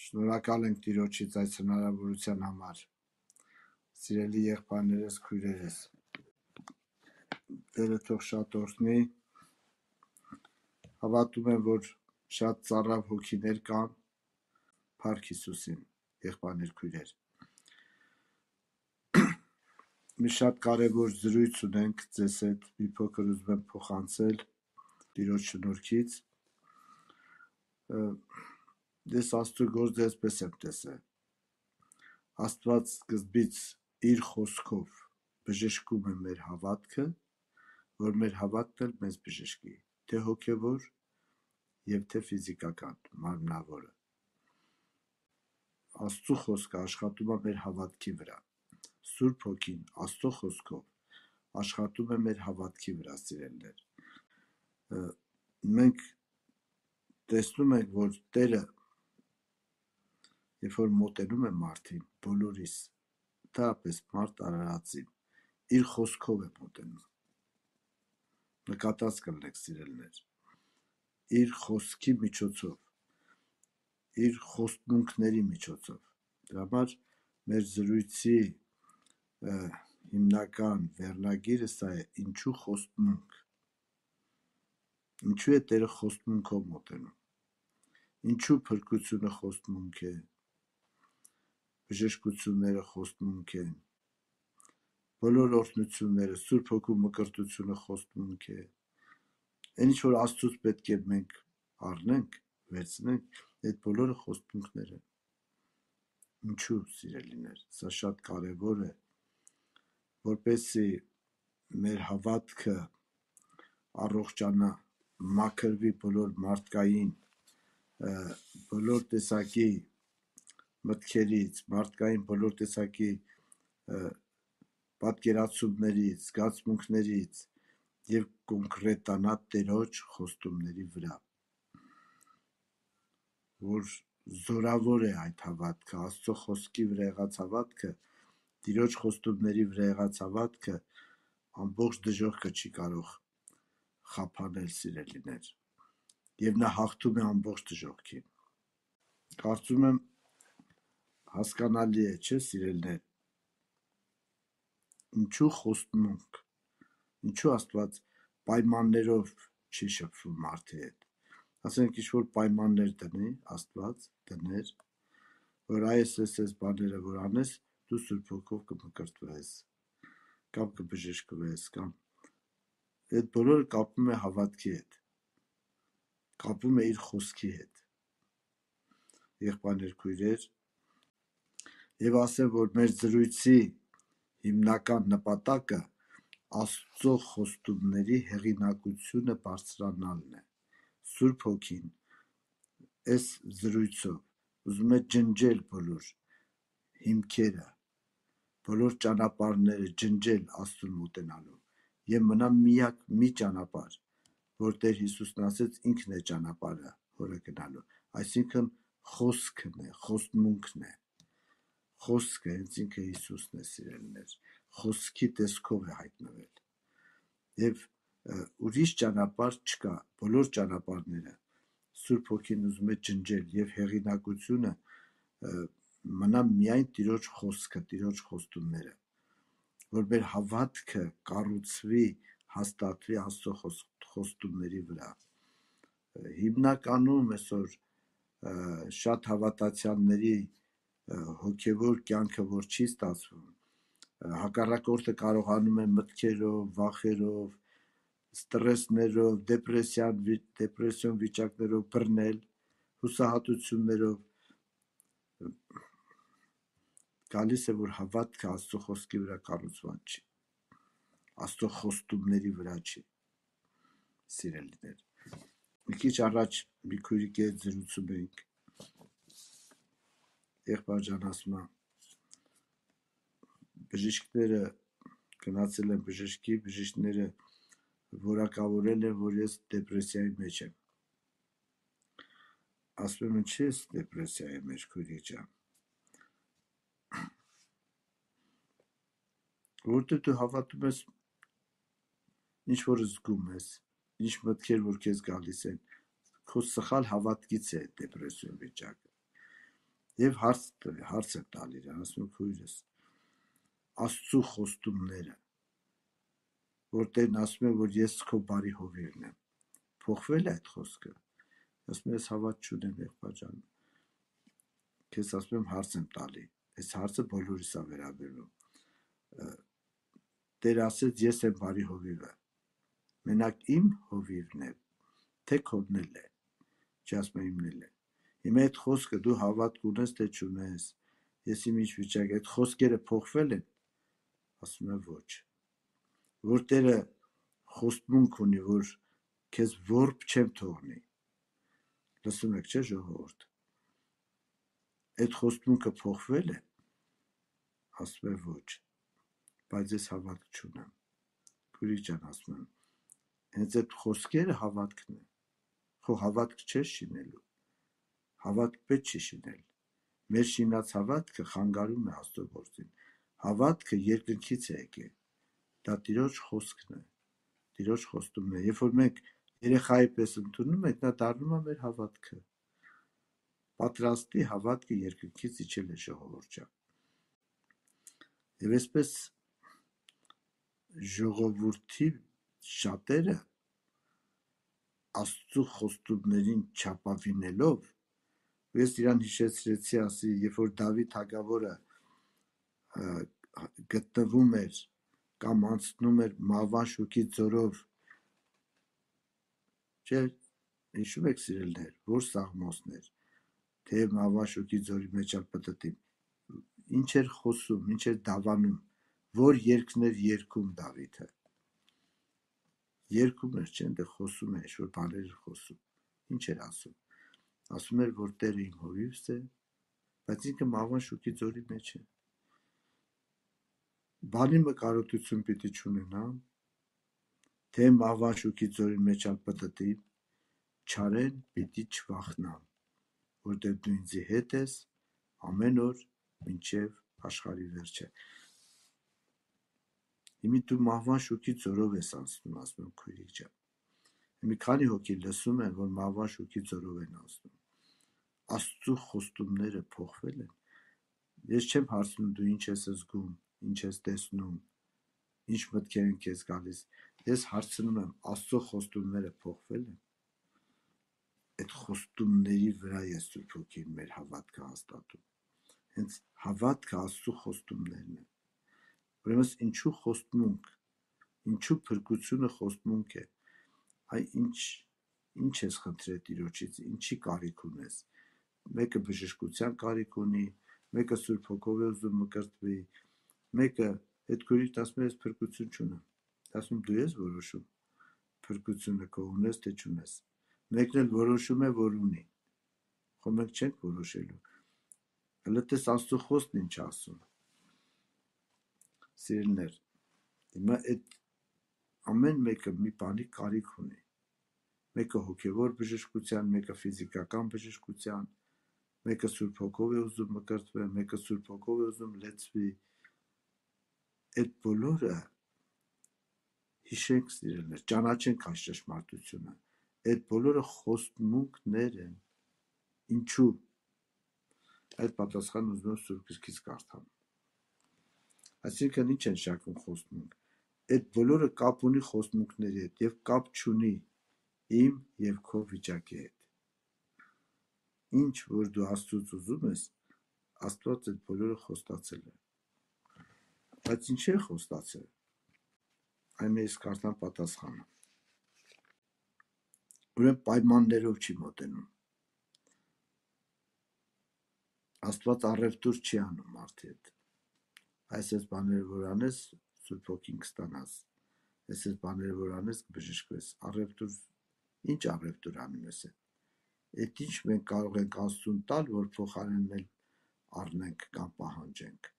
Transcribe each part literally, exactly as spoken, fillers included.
Շնորհակալ ենք Տիրոջից այս հնարավորության համար։ Սիրելի եղբայրներս, քույրերս, Տերը թող շատ օրհնի։ Հավատում եմ, որ շատ ծառավ հոգիներ կան, Փառք Հիսուսին, եղբայրներ, քույրեր։ Մի շատ կարևոր զրույց ունենք ձեզ հետ, մի փոքր ուզում եմ փոխանցել Տիրոջ շնորհքից։ Ես Աստծո գործը այսպես եմ տեսել։ Աստված սկզբից իր խոսքով բժշկում է մեր հավատքը, որ մեր հավատքն էլ մեզ բժշկի, թե հոգևոր եւ թե ֆիզիկական, մարմնավորը։ Աստծո խոսքը աշխատում է մեր հավատքի վրա։ Սուրբ Հոգին Աստծո խոսքով աշխատում է մեր հավատքի վրա, սիրելիներ։ Մենք տեսնում ենք, որ Տերը երբ որ մոտենում է մարդին, բոլորիս, դարապես մարդ արարածին, իր խոսքով է մոտենում։ Նկատած կլինեք, սիրելիներ, իր խոսքի միջոցով, իր խոստմունքների միջոցով։ Դրա համար մեր զրույցի հիմնական վերնագիրը սա է՝ ինչու խոստմունք։ Ինչու է Տերը խոստմունքով մոտենում։ Ինչու փրկությունը խոստմունք է, բժշկությունները խոստմունք են, բոլոր օրհնությունները, Սուրբ Հոգու մկրտությունը խոստմունք է։ Այն ինչ որ Աստծուց պետք է մենք առնենք, վերցնենք, այդ բոլորը խոստմունքներ են։ Ինչու, սիրելիներ, սա շատ կարևոր է, որպեսզի մեր հավատքը առողջանա, մաքրվի բոլոր մարդկային, բոլոր տեսակի մտքերից, մարդկային բոլոր տեսակի պատկերացումներից, զգացմունքներից եւ կոնկրետանա Տերոջ խոստումների վրա, որ զորավոր է այդ հավատքը, Աստծո խոսքի վրա եղած հավատքը, Տիրոջ խոստումների վրա եղած հավատքը ամբողջ դժոխքը չի կարող խափանել, սիրելիներ, եւ նա հաղթում է ամբողջ դժոխքին։ Կարծում եմ հասկանալի է, չէ՞, սիրելիներ, ինչու խոստմունք, ինչու Աստված պայմաններով չի շփվում մարդի հետ։ Ասենք ինչ-որ պայմաններ դնի Աստված, դներ, որ այս այս այս բաները որ անես, դու Սուրբ Հոգով կմկրտվես, կամ կբժշկվես, կամ այդ բոլորը կապվում է հավատքի հետ, կապվում է իր խոսքի հետ։ Եղբայրներ, քույրեր, եւ ասեմ, որ մեր զրույցի հիմնական նպատակը Աստծո խոստումների հեղինակությունը բարձրանալն է։ Սուրբ Հոգին այս զրույցով ուզում է ջնջել բոլոր հիմքերը, բոլոր ճանապարհները ջնջել Աստծուն մոտենալու եւ մնա միակ մի ճանապարհ, որ Տեր Հիսուսն ասեց ինքն է ճանապարհը, որը գնալու, այսինքն խոսքն է, խոստմունքն է։ Խոսքը հենց ինքը Հիսուսն է, սիրելիներ, խոսքի տեսքով է հայտնվել։ Եվ ուրիշ ճանապարհ չկա, բոլոր ճանապարհները Սուրբ Հոգին ուզում է ջնջել եւ հեղինակությունը մնա միայն Տիրոջ խոսքը, Տիրոջ խոստումները, որ մեր հավատքը կառուցվի, հաստատվի Աստծո խոստումների վրա։ Հիմնականում այսօր շատ հավատացյալների հոգևոր կյանքը որ չի ստացվում, հակառակորդը կարողանում է մտքերով, վախերով, ստրեսներով, դեպրեսիան, դեպրեսիոն վիճակներով բռնել, հուսահատություններով, գալիս է, որ հավատքը Աստծո խոսքի վրա կառուցված չի, Աստծո խոստումների վրա չի, սիրելիներ։ Մի քիչ առաջ մի քույրիկի հետ զրուցում էինք, եղբայր ջան ասում է, բժիշկները գնացել են բժշկի, բժիշկները որակավորել են, որ ես դեպրեսիայի մեջ եմ։ Ասում եմ, ինչի՞ ես դեպրեսիայի մեջ, քույրիկ ջան։ Որտե դու հավատում ես, ինչ որ զգում ես, ինչ մտքեր որ քեզ գալիս են, քո սխալ հավատքից է դեպրեսիոն վիճակը։ Եվ հարց հարց է տալի իրան, ասում է քույրս, Աստծո խոստումները, որ Տերն ասում է, որ ես քո բարի հովիվն եմ, փոխվել է այդ խոսքը։ Ասում է, ես հավատ չունեմ, եղբայր ջան, քեզ ասում եմ հարց եմ տալի, այս հարցը բոլորիս է վերաբերում։ Տեր ասեց, ես եմ բարի հովիվը, մենակ իմ հովիվն է, թե քոնն էլ է, չասում է իմն էլ է։ Հիմա այդ խոսքը դու հավատք ունես, թե չունես, ես իմ ինչ վիճակ, այդ խոսքերը փոխվել են, ասում է ոչ, որ Տերը խոստմունք ունի, որ քեզ որբ չեմ թողնի, լսում եք, չէ՞ ժողովուրդ, այդ խոստմունքը փոխվել է, ասում է ոչ, բայց ես հավատք չունեմ, քույրիկ ջան, ասում եմ, հենց այդ խոսքերը հավատքն է, խո հավատք չես շինելու, հավատք պետք չի շինել, մեր շինած հավատքը խանգարում է Աստծո գործին, հավատքը երկնքից է եկել, դա Տիրոջ խոսքն է, Տիրոջ խոստումն է, երբ որ մենք երեխայի պես ընդունում ենք, նա դառնում է մեր հավատքը, պատրաստի հավատքը երկնքից իջել է ժողովուրդ ջան, եւ այսպես ժողովրդի շատերը Աստծո խոստումներին չապավինելով, ես իրան հիշեցրեցի, ասի, երբ որ Դավիթ թագավորը գտնվում էր կամ անցնում էր Մահվան շուքի ձորով, չէ, հիշում եք սիրելիներ, որ Սաղմոսներ, թե Մահվան շուքի ձորի մեջ ալ պտտի, ինչ էր խոսում, ինչ էր դավանում, որ երգներ երգում Դավիթը, երգում էր, չէ, դե խոսում էր, որ բաներ էր խոսում, ինչ էր ասում, ասում էր, որ Տերը իմ հովիվս է, բայց ինքը Մահվան շուքի ձորի մեջ է, բանի մկարոտություն պիտի չունենամ, թե Մահվան շուքի ձորի մեջ ալ պտտի, չարեն պիտի չվախնամ, որտեղ դու ինձի հետ ես ամեն օր մինչև աշխարհի վերջը։ Հիմի դու Մահվան շուքի ձորով ես անցնում, ասում եմ քույրիկ ջան։ Մի քանի հոգի լսում են, որ Մահվան շուքի ձորով են անցնում։ Աստծո խոստումները փոխվել են։ Ես չեմ հարցնում դու ինչ ես զգում, ինչ ես տեսնում, ինչ մտքեր են քեզ գալիս։ Ես հարցնում եմ Աստծո խոստումները փոխվել են։ Այդ խոստումների վրա է Սուրբ Հոգին մեր հավատքը հաստատում։ Հենց հավատքը Աստծո խոստումներն են։ Ուրեմն ինչու խոստմունք, ինչու փրկությունը խոստմունք է։ Այ ինչ ինչ ես խնդրել Տիրոջից, ինչի կարիք ունես։ Մեկը բժշկության կարիք ունի, մեկը Սուրբ Հոգով է ուզում մկրտվի, մեկը այդ քույրիկն ասում է ես փրկություն չունեմ։ Ասում դու ես որոշում փրկությունը քո ունես թե չունես։ Մեկն էլ որոշում է, որ ունի։ Խո մենք չենք որոշելու։ Հələ տես Աստծո խոսքն ինչ ասում։ Սիրելիներ, հիմա այդ ամեն մեկը մի բանի կարիք ունի։ Մեկը հոգևոր բժշկության, մեկը ֆիզիկական բժշկության, մեկը Սուրբ Հոգով է ուզում մկրտվել, մեկը Սուրբ Հոգով է ուզում լեցվի։ Այդ բոլորը հիշենք սիրելիներ, ճանաչենք այս ճշմարտությունը։ Այդ բոլորը խոստմունքներ են։ Ինչու՞։ Այդ պատասխանը ուզում եմ Սուրբ Գրքից կարդամ։ Այսինքն ինչ են շակում խոստմունք։ Այդ բոլորը կապ ունի խոստմունքների հետ եւ կապ չունի իմ եւ քո վիճակի հետ։ Ինչ որ դու Աստծուց ուզում ես, Աստված այդ բոլորը խոստացել է։ Բայց ինչ է խոստացել։ Այն ես կարդամ պատասխանը։ Ուրեմն պայմաններով չի մոտենում։ Աստված առևտուր չի անում մարդի հետ։ Այս այս բաները որ անես, Սուրբ Հոգին կստանաս։ Այս այս բաները որ անես, կբժշկվես։ Առևտուր, ինչ առևտուր անում ես։ Այդ ինչ մենք կարող ենք Աստծուն տալ, որ փոխարինել առնենք կամ պահանջենք։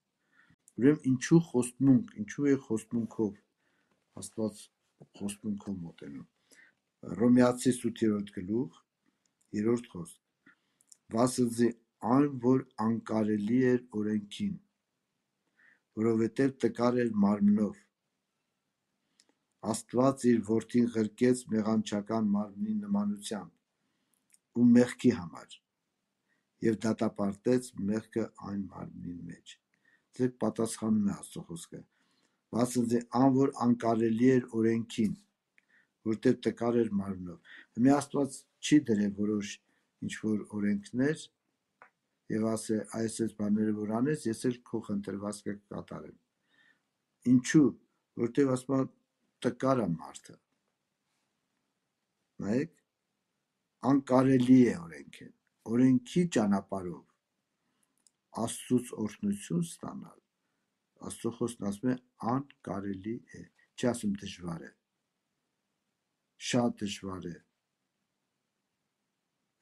Ուրեմն ինչու խոստմունք, ինչու է խոստմունքով Աստված խոստմունքով մոտենում։ Հռոմեացիս ութերորդ գլուխ երրորդ խոսք։ Վասնզի այն, որ անկարելի էր օրենքին, որովհետև տկար էր մարմնով։ Աստված իր որդին ղրկեց մեղանչական մարմնի նմանությամբ ու մեղքի համար եւ դատապարտեց մեղքը այն մարմնին մեջ։ Ձեր պատասխանում է Աստծո խոսքը։ Վասնզի ան որ անկարելի էր օրենքին, որտեղ տկար էր մարմնով։ Մի Աստված չի դրել որոշ ինչ որ օրենքներ եւ ասե այս այս բաները որ անես, ես էլ քո խնդրվածքը կկատարեմ։ Ինչու՞, որտեղ ասում տկար է մարդը։ Նայեք, անկարելի է օրենքին, օրենքի ճանապարհով Աստծուց օրհնություն ստանալ, Աստծո խոսքն ասում է անկարելի է, չի ասում դժվար է, շատ դժվար է,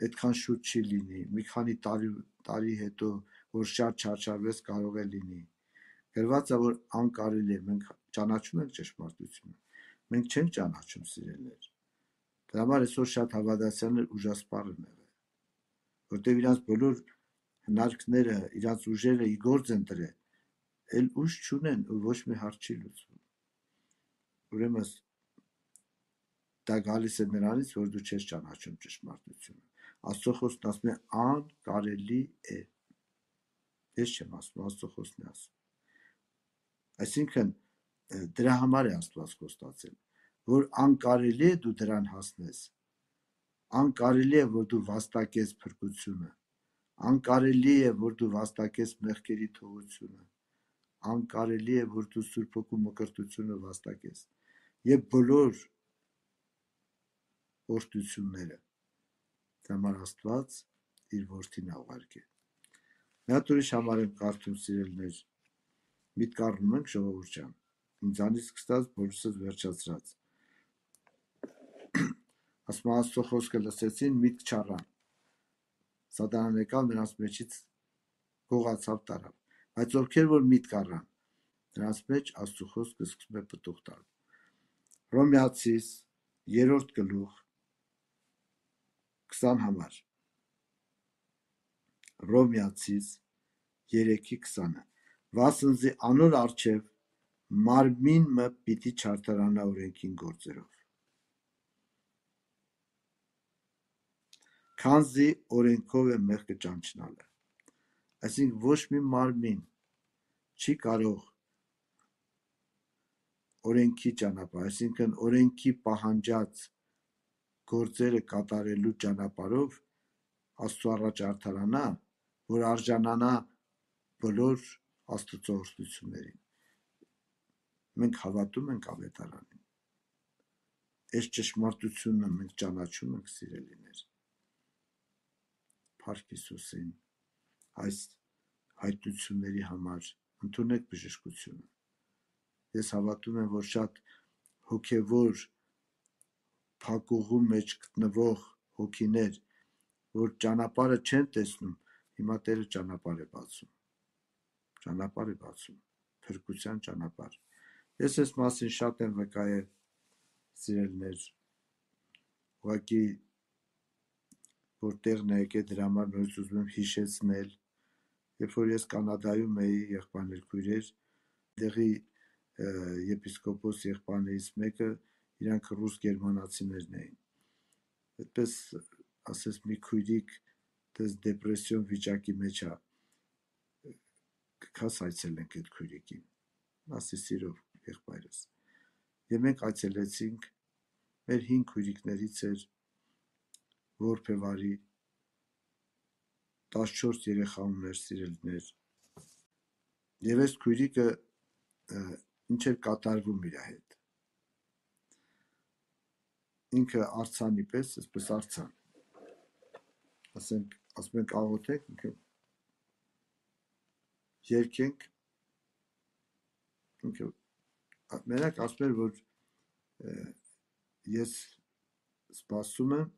այդքան շուտ չի լինի, մի քանի տարի, տարի հետո, որ շատ չարչարվես կարող է լինի, գրված է, որ անկարելի է, մենք ճանաչում ենք ճշմարտությունը, մենք չենք ճանաչում սիրելիներ, դրա համար այսօր շատ հավատացյալներ ուժասպառ են եղել, որտեղ իրանց բոլոր հնարքները, իրանց ուժերը ի գործ են դրել, էլ ուժ չունեն ու ոչ մի հարց չի լուծվում։ Ուրեմն դա գալիս է նրանից, որ դու չես ճանաչում ճշմարտությունը։ Աստծո խոսքն ասում է անկարելի է։ Ես չեմ ասում, Աստծո խոսքն է ասում։ Այսինքն դրա համար է Աստված խոստացել, որ անկարելի է դու դրան հասնես։ Անկարելի է, որ դու վաստակես փրկությունը։ Անկարելի է, որ դու վաստակես մեղքերի թողությունը, անկարելի է, որ դու Սուրբ Հոգու մկրտությունը վաստակես եւ բոլոր օրհնությունները։ Դա համար Աստված իր որդին ուղարկել։ Մի հատ ուրիշ համար եմ կարդում սիրելիներ, միտք առնում ենք ժողովուրդ ջան, ինձանից սկսած բոլորս վերջացրած։ Ասում Աստծո խոսքը լսեցին, միտք չառան։ Սատանան եկավ նրանց մեջից գողացավ տարավ, բայց ովքեր որ միտք առան, նրանց մեջ Աստծո խոսքը սկսում է պտուղ տալ։ Հռոմեացիս երրորդ գլուխ քսան համար։ Հռոմեացիս երեքի քսանը։ Վասնզի անոր առջև մարմինը պիտի չարդարանա օրենքին գործերով։ Քանզի օրենքով է մեղքը ճանչնալը։ Այսինքն ոչ մի մարմին չի կարող օրենքի ճանապարհ, այսինքն օրենքի պահանջած գործերը կատարելու ճանապարհով Աստծո առաջ արդարանա, որ արժանանա բոլոր Աստծո օրհնություններին։ Մենք հավատում ենք ավետարանին։ Այս ճշմարտությունը մենք ճանաչում ենք սիրելիներ։ Փառք Հիսուսին այս հայտնությունների համար ընդունեք բժշկությունը։ Ես հավատում եմ, որ շատ հոգևոր փակուղու մեջ գտնվող հոգիներ, որ ճանապարհը չեն տեսնում, հիմա Տերը ճանապարհ է բացում։ Ճանապարհ է բացում, փրկության ճանապարհ։ Ես այս մասին շատ եմ վկայել, սիրելիներ, ուղղակի որտեղն է եկել դրա համար նորից ուզում եմ հիշեցնել, երբ որ ես Կանադայում էի եղբայրներ քույրեր, դեղի եպիսկոպոս եղբայրներից մեկը իրանք ռուս գերմանացիներն էին։ Այդպես ասես մի քույրիկ դες դեպրեսիոն վիճակի մեջ է։ Կքաս այցելենք այդ քույրիկին։ Ասի սիրով եղբայրս։ Եվ մենք այցելեցինք, մեր հին քույրիկներից էր որբևարի տասնչորս երեխա ուներ սիրելիներ։ Եվ այս քույրիկը ինչ էր կատարվում իր հետ։ Ինքը արցանի պես, այսպես արցան։ Ասենք, ասում ենք աղոթենք, ինքը երկենք, ինքը մենակ ասում էր, որ ես սպասում եմ,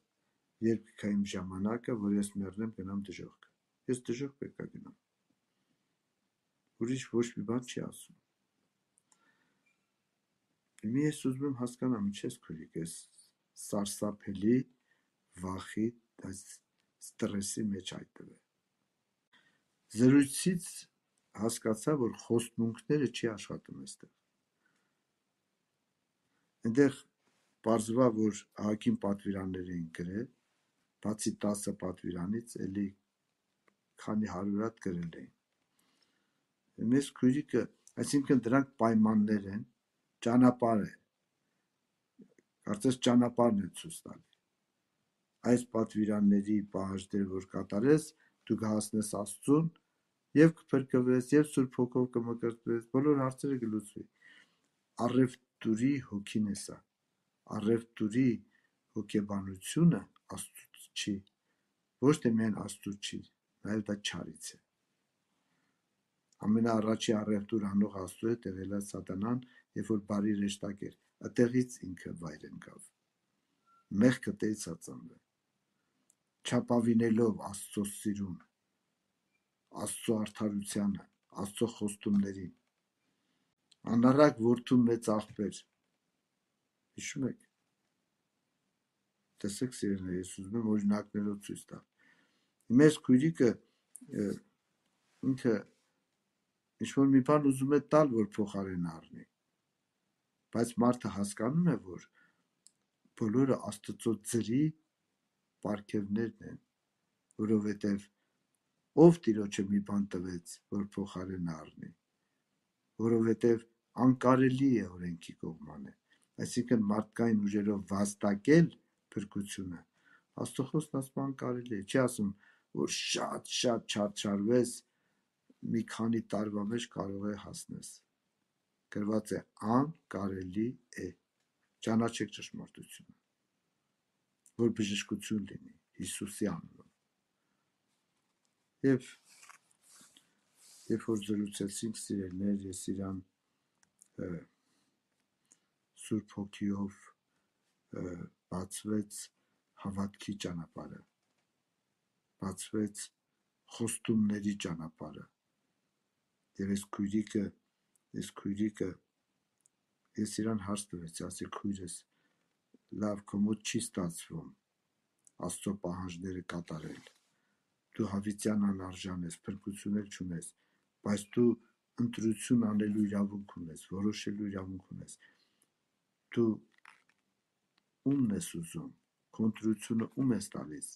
երբ կգա իմ ժամանակը, որ ես մեռնեմ, գնամ դժոխք։ Ես դժոխք պետք է գնամ։ Ուրիշ ոչ մի բան չի ասում։ Մի ես ուզում եմ հասկանամ, ինչ ես քույրիկ, ես սարսափելի վախի, ստրեսի մեջ այդտեղ։ Զրույցից հասկացա, որ խոստմունքները չի աշխատում այստեղ։ Այնտեղ պարզվա, որ ահագին պատվիրաններ էին գրել, բացի տասը պատվիրանից, էլի քանի հարյուր հատ գրել էին։ Մեզ քույրիկը, այսինքն դրանք պայմաններ են, ճանապարհ է, կարծես ճանապարհն է ցույց տալի։ Այս պատվիրանների պահանջները, որ կատարես, դու կհասնես Աստծուն եւ կփրկվես եւ Սուրբ Հոգով կմկրտվես, բոլոր հարցերը կլուծվի։ Առևտուրի հոգին է սա։ Առևտուրի հոգեբանությունը Աստծուց չի, ոչ թե միայն Աստծուց չի, նաեւ դա չարից է։ Ամենաառաջի առևտուր անող Աստծու հետ եղել է Սատանան, երբ որ բարի ռեշտակ էր, այդտեղից ինքը վայր ընկավ։ Մեղքը տեից ածանվել, չափավինելով Աստծո սիրուն, Աստծո արդարությանը, Աստծո խոստումներին, անառակ որդու մեծ աղբեր, հիշում եք, տեսեք սիրելիներ, ես ուզում եմ օրինակներով ցույց տալ։ Մեր քույրիկը ինքը ինչ-որ մի բան ուզում է տալ, որ փոխարեն առնի, բայց մարդը հասկանում է, որ բոլորը Աստծո ձրի պարգևներն են, որովհետև ով Տիրոջը մի բան տվեց, որ փոխարեն առնի, որովհետև անկարելի է օրենքի կողմանը, այսինքն մարդկային ուժերով վաստակել փրկությունը, Աստծո խոսքն ասում անկարելի է, չի ասում, որ շատ-շատ չարչարվես, մի քանի տարվա մեջ կարող է հասնես, գրված է անկարելի է, ճանաչեք ճշմարտությունը, որ բժշկություն լինի Հիսուսի անունով։ Եվ երբ որ զրուցեցինք սիրելիներ, ես իրան Սուրբ Հոգիով բացվեց հավատքի ճանապարհը, բացվեց խոստումների ճանապարհը։ Եվ այս քույրիկը, այս քույրիկը ես իրան հարց տվեցի, ասի քույրս, լավ, քո մոտ չի ստացվում Աստծո պահանջները կատարել, դու հավիտյան անարժան ես, փրկություն էլ չունես, բայց դու ընտրություն անելու իրավունք ունես, որոշելու իրավունք ունես, դու ումն ես ուզում, քո ընտրությունը ում ես տալիս,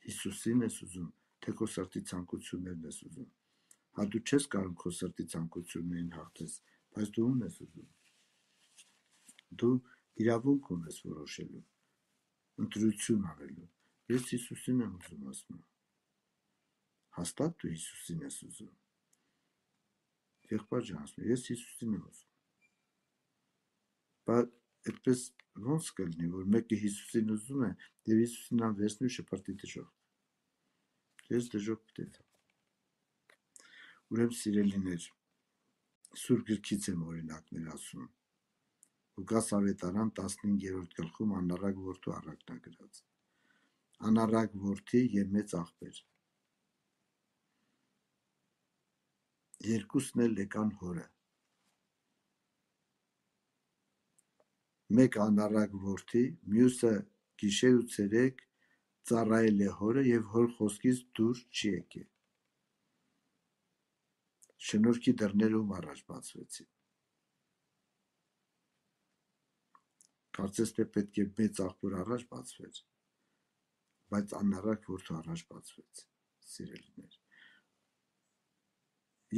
Հիսուսին ես ուզում, թե քո սրտի ցանկություններն ես ուզում, հա դու չես կարող քո սրտի ցանկություններին հաղթես, բայց դու ումն ես ուզում, դու իրավունք ունես որոշելու, ընտրություն անելու, ես Հիսուսին եմ ուզում, ասում եմ, հաստատ դու Հիսուսին ես ուզում, եղբայր ջան, ասում եմ, ես Հիսուսին եմ ուզում, բայց այդպես ոնց կլինի, որ մեկը Հիսուսին ուզում է եւ Հիսուսին նա վերցնի ու շպրտի դժոխք, ես դժոխք պետք է տամ։ Ուրեմն սիրելիներ, Սուրբ գրքից եմ օրինակներ ասում, Լուկաս ավետարան տասնհինգերորդ գլխում անառակ որդու առակնագրած, անառակ որդի եւ մեծ աղբեր, երկուսն էլ եկան հորը, մեկ անառակ որդի, մյուսը գիշեր ու ցերեկ ծառայել է հորը եւ հոր խոսքից դուրս չի եկել, շնորհքի դռները ում առաջ բացվեցին, կարծես թե պետք է մեծ աղբոր առաջ բացվեր, բայց անառակ որդու առաջ բացվեց, սիրելիներ,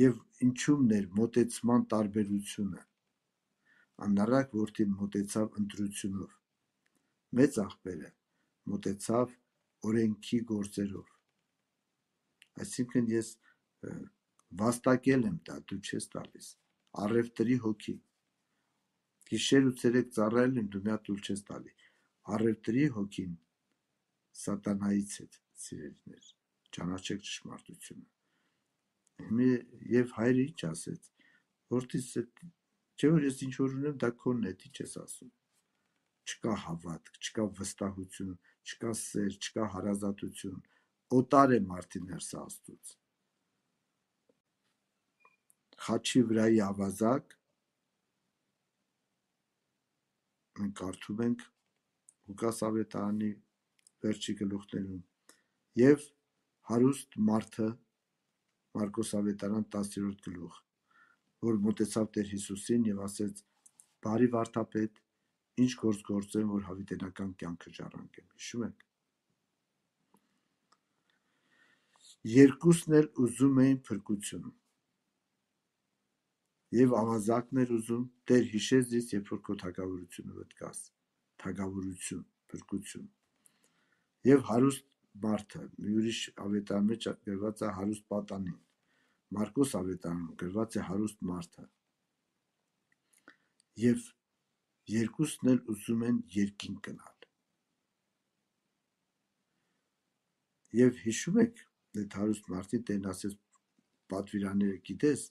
եւ ինչումն էր մոտեցման տարբերությունը, անառակ որդին մոտեցավ ընտրությունով, մեծ աղբերը մոտեցավ օրենքի գործերով, այսինքն ես վաստակել եմ դա, դու չես տալիս, առևտրի հոգի, գիշեր ու ցերեկ ծառայել եմ, դու մի հատ ուլ չես տալի, առևտրի հոգին սատանայից է, սիրելիներ, ճանաչեք ճշմարտությունը, եւ հայրը ինչ ասեց, որդիս, չէ որ ես ինչ որ ունեմ, դա քոնն է, դի չես ասում, չկա հավատք, չկա վստահություն, չկա սեր, չկա հարազատություն, օտար է մարդի ներսը Աստծուց, խաչի վրայի ավազակ, մենք կարդում ենք Լուկաս ավետարանի վերջի գլուխներում, եւ հարուստ մարդը, Մարկոս ավետարան տասներորդ գլուխ, որ մոտեցավ Տեր Հիսուսին եւ ասեց. «Բարի վարդապետ, ինչ գործ գործեմ, որ հավիտենական կյանքը ժառանգեմ»։ Հիշում եք։ Երկուսն էլ ուզում էին փրկություն։ Եվ ավազակն էր ուզում, Տեր հիշեց ինձ, երբ որ քո թագավորությունը վտկաս, թագավորություն, փրկություն։ Եվ հարուստ մարդը, մի ուրիշ ավետարան մեջ գրված է հարուստ պատանին, Մարկոս ավետարանում գրված է հարուստ մարդը։ Եվ երկուսն էլ ուզում են երկինք գնալ։ Եվ հիշում եք, այդ հարուստ մարդին Տերն ասեց, պատվիրանները գիտես,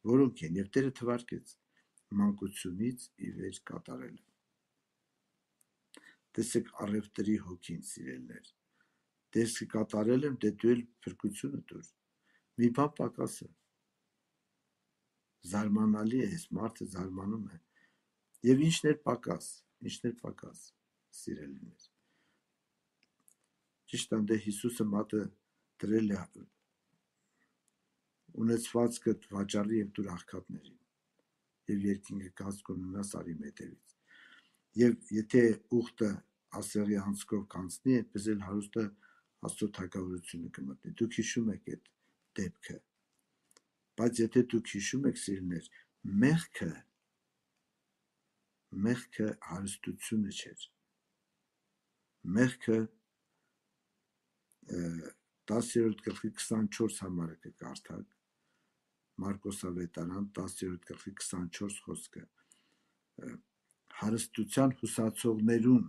որոնք են, եւ Տերը թվարկեց մանկությունից ի վեր կատարել։ Տեսեք առևտրի հոգին, սիրելներ։ Տեսք կատարել եմ, դե դու էլ փրկությունը դուր։ Մի բան պակաս է։ Զարմանալի է, այս մարդը զարմանում է։ Եվ ինչն էր պակաս, ինչն էր պակաս, սիրելիներ։ Ճիշտ է, Հիսուսը մատը դրել է ունեցվածքդ վաճառի եւ դուր աղքատներին եւ երկինքը կաց կունենաս արի մետևից։ Եվ եթե ուխտը ասեղի անցքով կանցնի, այդպես էլ հարուստը Աստծո թագավորությունը կմտնի։ Դուք հիշում եք այդ դեպքը։ Բայց եթե դուք հիշում եք, սիրելիներ, մեղքը մեղքը հարստությունը չէր։ Մեղքը տասերորդ գլխի քսանչորս համարը կկարդաք, Մարկոս ավետարան տասերորդ գլխի քսանչորս խոսքը, հարստության հուսացողներուն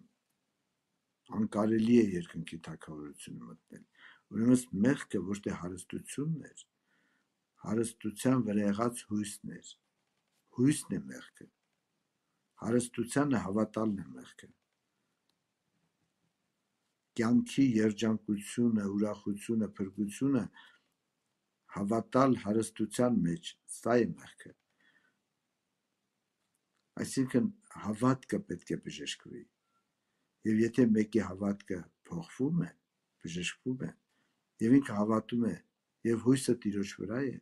անկարելի է երկնքի թագավորությունը մտնել։ Ուրեմն մեղքը ոչ թե հարստությունն էր, հարստության վրա եղած հույսն էր։ Հույսն է մեղքը։ Հարստությանը հավատալն է մեղքը։ Կյանքի երջանկությունը, ուրախությունը, փրկությունը հավատալ հարստության մեջ, սա է մեղքը։ Այսինքն հավատքը պետք է բժշկվի։ Եվ եթե մեկի հավատքը փոխվում է, բժշկվում է, եւ ինքը հավատում է, եւ հույսը Տիրոջ վրա է,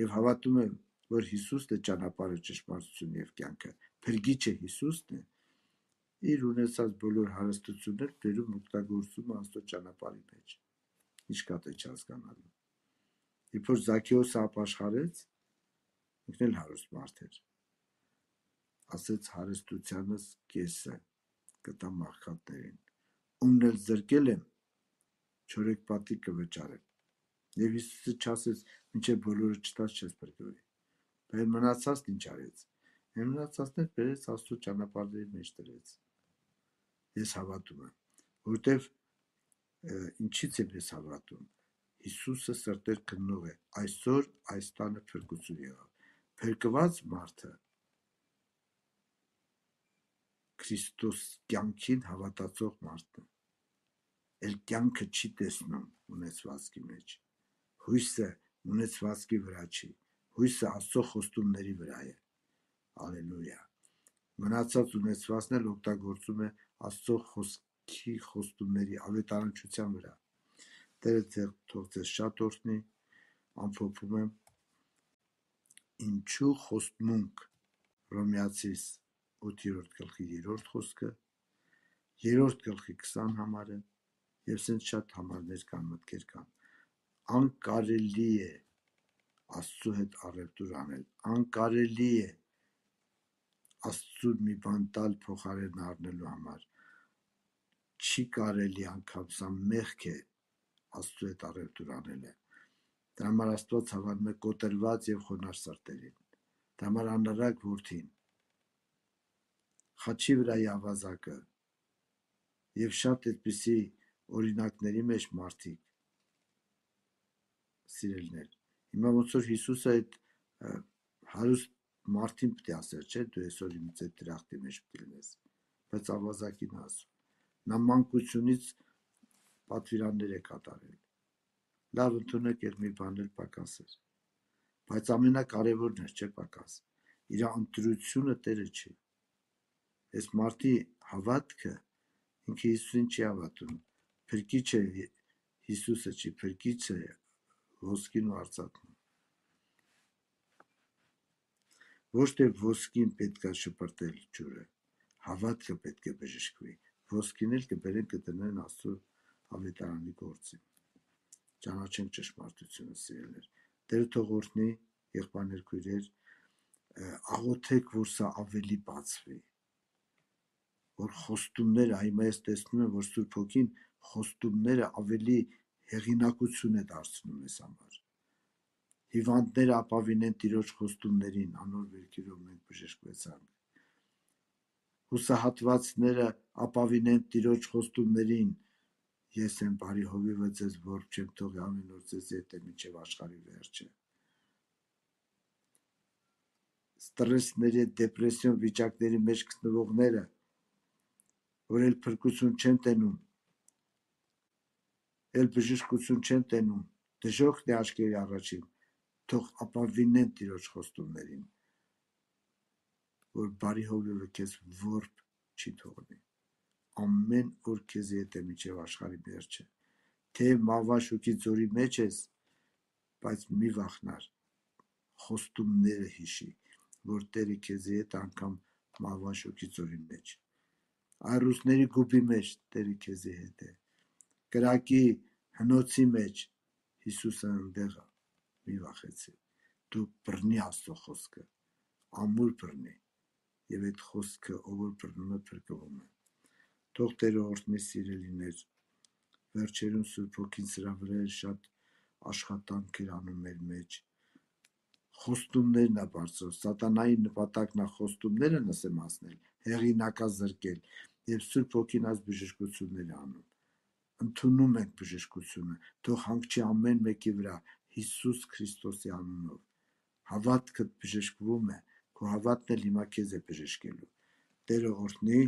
եւ հավատում է, որ Հիսուսն է ճանապարհը, ճշմարտությունը եւ կյանքը, Փրկիչը Հիսուսն է, իր ունեցած բոլոր հարստությունները բերում օգտագործում Աստծո ճանապարհի մեջ։ Ինչ կա թե չհասկանալու։ Երբ որ Զաքեոսը ապաշխարեց, ինքն էլ հարուստ մարդ էր, ասեց հարստությանս կեսը կտամ աղքատներին, ումն էլ զրկել եմ, չորեքպատի կվճարեմ։ Եվ Հիսուսը չասեց, մինչև բոլորը չտաս չես փրկվի։ Բայց մնացածն ինչ արեց։ Մնացածն էլ բերեց Աստծո ճանապարհների մեջ դրեց։ Ես հավատում եմ, որտեվ ինչից եմ ես հավատում։ Հիսուսը սրտեր քննող է։ Այսօր այս տանը փրկություն եղավ։ Փրկված մարդը Քրիստոս կյանքին հավատացող մարդն է։ Էլ կյանքը չի տեսնում ունեցվածքի մեջ։ Հույսը ունեցվածքի վրա չի։ Հույսը Աստծո խոստումների վրա է։ Ալելույա։ Մնացած ունեցվածքն էլ օգտագործում է Աստծո խոսքի խոստումների ավետարանչության վրա։ Տերը թող ձեզ շատ օրհնի, ամփոփում եմ ինչու խոստմունք Հռոմեացիս ութերորդ գլխի երրորդ խոսքը, երրորդ գլխի քսան համարը եւ սենց շատ համարներ կան, մտքեր կան։ Անկարելի է Աստծո հետ առևտուր անել, անկարելի է Աստծուն մի բան տալ փոխարեն առնելու համար։ Չի կարելի անգամ, սա մեղք է Աստծո հետ առևտուր անելը։ Դրա համար Աստված հավանում է կոտրված եւ խոնարհ սրտերին։ Դրա համար անարակ որդին խաչի վրայի ավազակը եւ շատ այդպիսի օրինակների մեջ մարդիկ սիրելներ։ Հիմա ոնց որ Հիսուսը այդ հարուստ մարդին պետք է ասեր, չէ՞, դու այսօր ինձ այդ դրախտի մեջ պետք է լինես, բայց ավազակին ասում։ Նա մանկությունից պատվիրաններ է կատարել։ Լավ ընդունեք էր մի բան էլ պակաս էր։ Բայց ամենակարևորն էր, չէ՞ պակաս։ Իր ընտրությունը Տերը չի։ Այս մարդի հավատքը ինքը Հիսուսին չի հավատում։ Փրկիչը Հիսուսը չի, փրկիչը ոսկին ու արծաթն։ Ոչ թե ոսկին պետք է շպրտել ջուրը, հավատքը պետք է բժշկվի։ Ոսկին էլ կբերեն կդնեն Աստծո ավետարանի գործին։ ճանաչենք ճշմարտությունը, սիրելիներ։ Տերը թող օրհնի, եղբայրներ, քույրեր, աղոթեք, որ սա ավելի բացվի, որ խոստումները, հիմա ես տեսնում եմ, որ Սուրբ Հոգին խոստումները ավելի հեղինակություն է դարձնում մեզ համար։ Հիվանդները ապավինեն Տիրոջ խոստումներին, անոր վերքերով մենք բժշկվեցանք։ Հուսահատվածները ապավինեն Տիրոջ խոստումներին, ես եմ բարի հովիվը ձեզ որբ չեմ թողի, ամեն օր ձեզ հետ եմ մինչև աշխարհի վերջը։ Ստրեսների, դեպրեսիոն վիճակների մեջ գտնվողները, որ էլ փրկություն չեն տենում, էլ բժշկություն չեն տենում, դժոխքն է աչքերի առաջին, թող ապավինեն Տիրոջ խոստումներին, որ բարի հովիվը քեզ որբ չի թողնի, ամեն օր քեզ հետ է մինչև աշխարհի վերջը, թե մահվան ձորի մեջ ես, բայց մի վախնար, խոստումները հիշի, որ Տերը քեզ հետ անգամ մահվան շոկի ձորի մեջ, այռուսների գուբի մեջ Տերը քեզ հետ է, կրակի հնոցի մեջ Հիսուսը ընդեղ է, մի վախեցի, դու բռնի Աստծո խոսքը, ամուր բռնի, եւ այդ խոսքը ով որ բռնում է փրկվում է։ Թող Տերը օրհնի, սիրելիներ, վերջերուն Սուրբ Հոգին սրա վրա էլ շատ աշխատանք էր անում մեր մեջ, խոստումներն է բարձրացնում, սատանայի նպատակն է խոստումները նսեմացնել, հեղինակազրկել, եւ Սուրբ Հոգին այս բժշկությունները անում, ընդունում ենք բժշկությունը, թող հանգչի ամեն մեկի վրա Հիսուս Քրիստոսի անունով, հավատքդ բժշկվում է, քո հավատն էլ հիմա քեզ է բժշկելու, Տերը օրհնի,